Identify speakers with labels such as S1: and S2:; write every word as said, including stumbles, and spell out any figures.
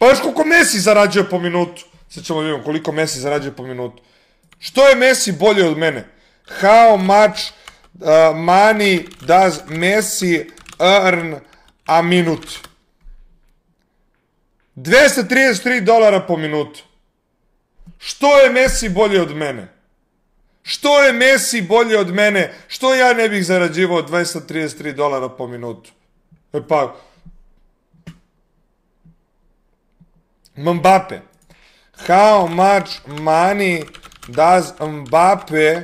S1: Pa još koliko Messi zarađuje po minutu. Sad ćemo vidjeti koliko Messi zarađuje po minutu. Što je Messi bolje od mene? How much uh, money does Messi earn a minute? dvesta trideset tri dolara po minutu. Što je Messi bolje od mene? Što je Messi bolje od mene? Što ja ne bih zarađivao dvesta trideset tri dolara po minutu? E pa... Mbappe. How much money does Mbappe